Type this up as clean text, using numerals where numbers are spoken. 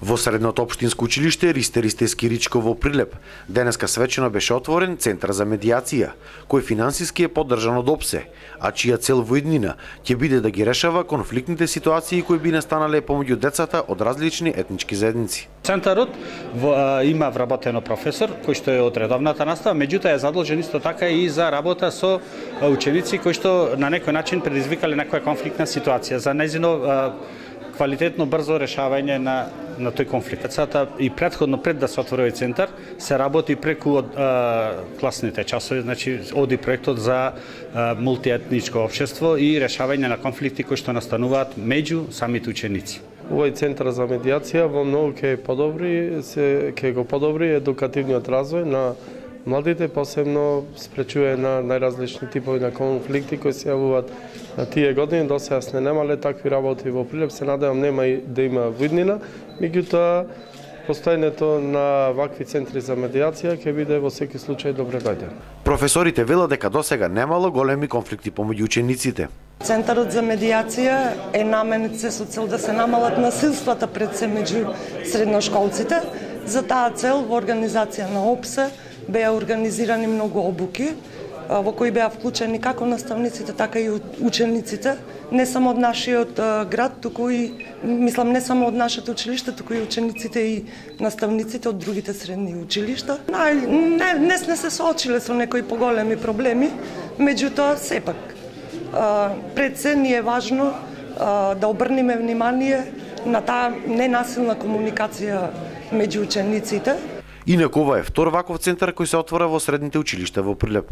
Во средното општинско училиште Ристе Ричко во Прилеп денеска свечено беше отворен Центар за медијација, кој финансиски е поддржан од ОПСЕ, а чија цел во иднина ќе биде да ги решава конфликтните ситуации кои би настанале помеѓу децата од различни етнички заедници. Центарот има вработено професор кој што е од редовната настава, меѓутоа е задолжен исто така и за работа со ученици кои што на некој начин предизвикале некоја конфликтна ситуација за нејзино квалитетно брзо решавање на тој конфликт. Децата и претходно пред да се отвори овој центар се работи преку класните часови, значи оди проектот за мултиетничко општество и решавање на конфликти кои што настануваат меѓу самите ученици. Овој центар за медијација во многу ќе го подобри едукативниот развој на младите, посебно спречува на најразлични типови на конфликти кои се јавуваат на тие години. До сега не немале такви работи во Прилеп, се надевам нема и да има во иднина, меѓутоа постојањето на вакви центри за медијација ќе биде во секој случај добре дојден. Професорите велат дека досега немало големи конфликти помеѓу учениците. Центарот за медијација е наменет со цел да се намалат насилствата пред се меѓу средношколците. За таа цел во организација на ОПСЕ беа организирани многу обуки во кои беа вклучени како наставниците, така и учениците, не само од нашиот град, туку и мислам не само од нашето училиште, туку и учениците и наставниците од другите средни училишта. Не се соочиле со некои поголеми проблеми, меѓутоа сепак пред се ни е важно да обрнеме внимание на таа ненасилна комуникација меѓу учениците. Инаку ова е втор ваков центар кој се отвора во средните училишта во Прилеп.